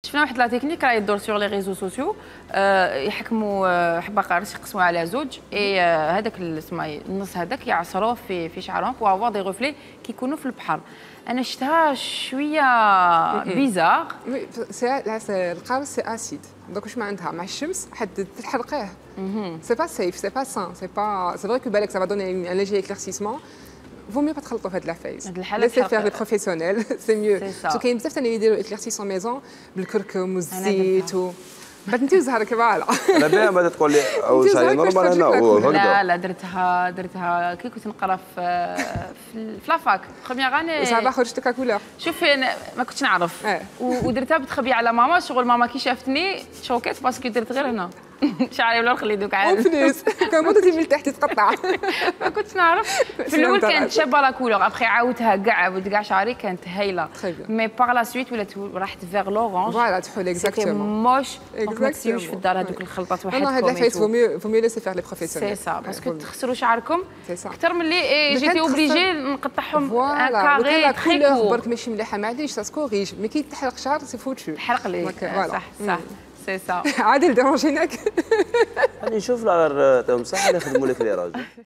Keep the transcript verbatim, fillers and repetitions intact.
شفنا واحد لا تكنيك راه يدور سور لي ريزو سوسيو يحكموا حبه قارص يقسموها على زوج اي هذاك اسمها النص هذاك يعصروه في في شعرهم بو افوار دي ريفلي كيكونوا في البحر. انا شفتها شويه بيزار. وي سي القارص سي اسيد دونك واش ما عندها مع الشمس حد تحرقيه. سي با سيف سي با سان سي با سي فري كو بالك سا فا دوني ان ليجي اكليرسيسمون. فو ميو با تخلطوا في هاد لافايز. ليسي فير لي بروفيسيونيل سي ميو. سو كاين بزاف ثاني يديروا اكليرسيس ميزون بالكركم والزيت و بعد انت وزهرك فوالا. انا بها بعد تقول لي او شاي نورمال انا هو لا لا درتها درتها كي كنت نقرا في في لافاك بروميير اني صافا خرجت لك كولور. شوفي انا ما كنتش نعرف ودرتها بتخبي على ماما شغل ماما كي شافتني شوكيت باسكو درت غير هنا شعري ولا خلي دوك عاد وفلوس كان موضتي من تحت تقطع. ما كنتش نعرف في الاول كانت شابه لا كولور ابخي عاودتها كاع ولد كاع شعري كانت هايله مي باغ لا سويت ولات راحت فيغ لورانج فوالا تحول اكزاكتومون موش ما تسيوش في الدار هذوك الخلطات وحدكم. هاد لافايس فو ميو فو ميو ليسي فيغ لي بروفيسيونيل. سي سا باسكو تخسروا شعركم اكثر من اللي جيتي اوبليجي نقطعهم ان كاري تري كور برك ماشي مليحه معليش سا سكوريج مي كي تحرق شعر سي فوتشو تحرق لي صح صح سي سا. عادل ديرونجيناك غادي نشوف لا غير تعطيهم صح يخدموا لك لي راجل.